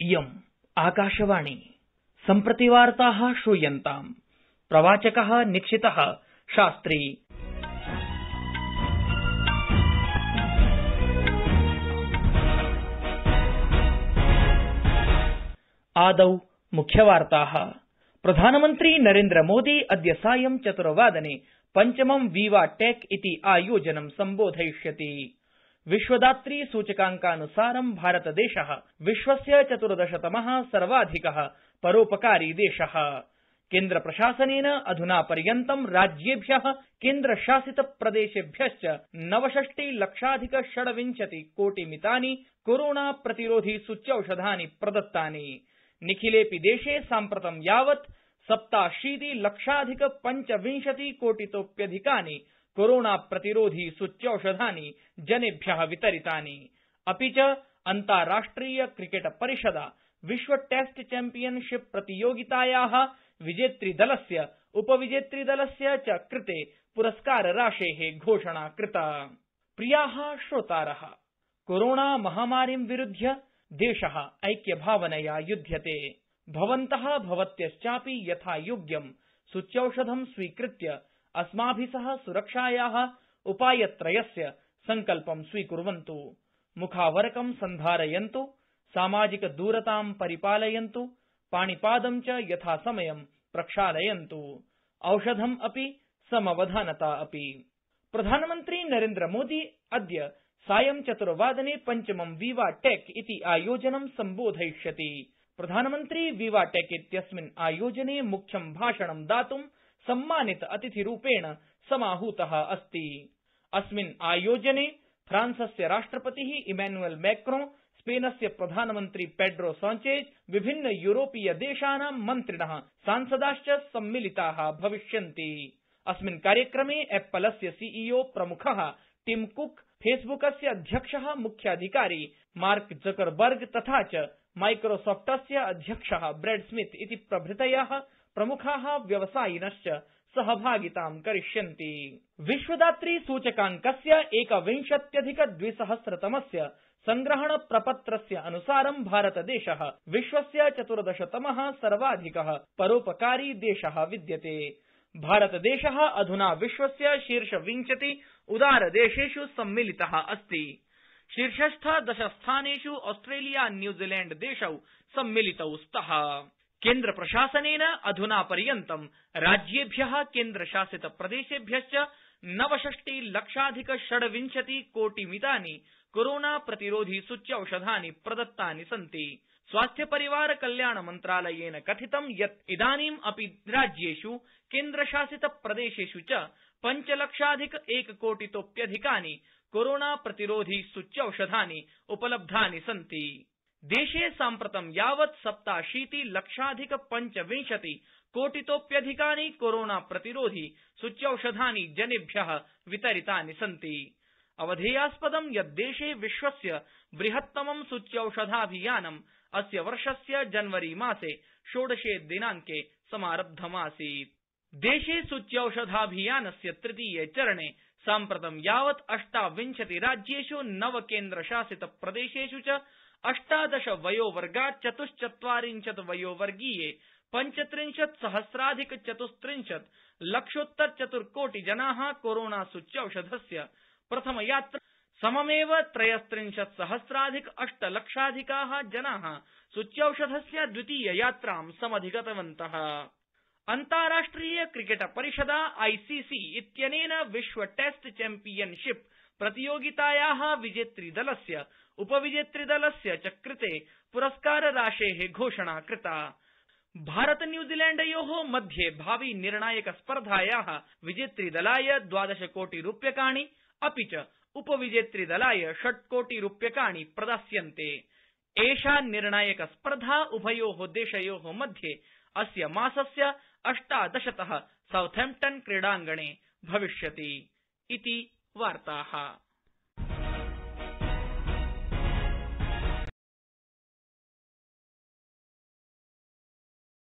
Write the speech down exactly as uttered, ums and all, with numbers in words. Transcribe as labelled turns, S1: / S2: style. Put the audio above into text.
S1: इयम् आकाशवाणी सम्प्रति वार्ताः श्रूयन्ताम्। प्रवाचकः निक्षितः शास्त्री। आदौ मुख्यवार्ताः। प्रधानमन्त्री नरेन्द्र मोदी अद्य सायं चतुर्वादने पञ्चमं वीवा टेक इति आयोजनं सम्बोधयिष्यति। विश्वदात्री सूचकांकानुसारं भारतदेशः विश्वस्य चतुर्दशतमः सर्वाधिकः परोपकारी देशः। केन्द्रप्रशासनेन अधुना पर्यन्तं राज्येभ्यः केन्द्रशासितप्रदेशेभ्यश्च नवषष्टि लक्षाधिक षड्विंशति कोटिमितानि कोरोना प्रतिरोधि सूच्यौषधानि प्रदत्तानि। निखिलेऽपि देशे साम्प्रतं यावत् सप्ताशीति लक्षाधिक पञ्चविंशति कोटितोप्यधिकानि कोरोना प्रतिरोधि सूच्यौषधानि जनेभ्यः वितरितानि। अपि च अन्ताराष्ट्रिय क्रिकेट परिषदा विश्व टेस्ट चैम्पियनशिप प्रतियोगितायाः विजेतृदलस्य उपविजेतृदलस्य च कृते पुरस्कारराशेः घोषणा कृता। प्रियाः श्रोतारः, कोरोना महामारीं विरुध्य देशः ऐक्यभावनया युध्यते। भवन्तः भवत्यश्चापि यथा योग्यं सूच्यौषधं स्वीकृत्य अस्माभिः सह सुरक्षायाः उपायत्रयस्य सङ्कल्पं स्वीकुर्वन्तु। मुखावरकं सन्धारयन्तु, सामाजिकदूरतां परिपालयन्तु, पाणिपादं च यथासमयं प्रक्षालयन्तु, औषधम् अपि समवधानता अपि। प्रधानमन्त्री नरेन्द्र मोदी अद्य सायं चतुर्वादने पञ्चमं वीवा टेक इति आयोजनं सम्बोधयिष्यति। प्रधानमन्त्री वीवा टेक इत्यस्मिन् आयोजने मुख्यं भाषणं दातुं सम्मानित अतिथिरूपेण समाहूतः अस्ति। अस्मिन् आयोजने फ्रांसस्य राष्ट्रपतिः इमैनुअल मैक्रों, स्पेनस्य प्रधानमन्त्री पेड्रो साञ्चेज, विभिन्न यूरोपीय देशानां मन्त्रिणः, सांसदाश्च सम्मिलिताः भविष्यन्ति। अस्मिन् कार्यक्रमे एप्पलस्य सीईओ प्रमुखः टिम कुक, फेसबुकस्य अध्यक्षः मुख्याधिकारी मार्क जकरबर्ग तथा च माइक्रोसॉफ्टस्य अध्यक्षः ब्रैड स्मिथ इति प्रभृतयः प्रमुखाः व्यवसायिनश्च सहभागितां करिष्यन्ति। विश्वदात्री सूचकाङ्कस्य एकविंशत्यधिक द्विसहस्रतमस्य संग्रहण प्रपत्रस्य अनुसारं भारतदेशः विश्वस्य चतुर्दशतमः सर्वाधिकः परोपकारी देशः विद्यते। भारतदेशः अधुना विश्वस्य शीर्षविंशति उदारदेशेषु सम्मिलितः अस्ति। शीर्षस्थ दशस्थानेषु ऑस्ट्रेलिया न्यूजीलैंड देशौ सम्मिलितौ स्तः। केन्द्रप्रशासनेन अधुना पर्यन्तं राज्येभ्यः केन्द्रशासितप्रदेशेभ्यश्च नवषष्टि लक्षाधिक षड्विंशति कोटिमितानि कोरोना प्रतिरोधि सूच्यौषधानि प्रदत्तानि सन्ति। स्वास्थ्य परिवार कल्याण मन्त्रालयेन कथितं यत् इदानीम् अपि राज्येषु केन्द्रशासितप्रदेशेषु च पञ्चलक्षाधिक एककोटितोप्यधिकानि कोरोना प्रतिरोधि सूच्यौषधानि उपलब्धानि सन्ति। देशे साम्प्रतं यावत् सप्ताशीति लक्षाधिक पञ्चविंशति कोटितोप्यधिकानि कोरोना प्रतिरोधि सूच्यौषधानि जनेभ्यः वितरितानि सन्ति। अवधेयास्पदं यत् देशे विश्वस्य बृहत्तमं सूच्यौषधाभियानम् अस्य वर्षस्य जनवरी मासे षोडशे दिनाङ्के समारब्धमासीत्। देशे सूच्यौषधाभियानस्य तृतीये चरणे साम्प्रतं यावत् अष्टाविंशति राज्येषु नव केन्द्रशासित प्रदेशेषु च अष्टादश वयोवर्गात् चतुश्चत्वारिंशत् वयोवर्गीये पञ्चत्रिंशत् सहस्राधिक चतुस्त्रिंशत् लक्षोत्तर चतुर्कोटि जनाः कोरोना सूच्यौषधस्य प्रथमयात्रा सममेव त्रयस्त्रिंशत् सहस्राधिक अष्टलक्षाधिकाः जनाः सूच्यौषधस्य द्वितीययात्रां समधिगतवन्तः। अन्ताराष्ट्रिय क्रिकेट परिषदा आईसीसी इत्यनेन विश्व टेस्ट चैम्पियनशिप प्रतियोगितायाः विजेतृदलस्य उपविजेतृदलस्य च कृते पुरस्कारराशेः घोषणा कृता। भारत न्यूजीलैण्डयोः मध्ये भावि निर्णायक स्पर्धायाः विजेतृदलाय द्वादश कोटि रूप्यकाणि अपि च उपविजेतृदलाय षट् कोटि रूप्यकाणि प्रदास्यन्ते। एषा निर्णायक स्पर्धा उभयोः देशयोः मध्ये अस्य मासस्य अष्टादशतः साउथैम्प्टन क्रीडाङ्गणे भविष्यति इति वार्ताः।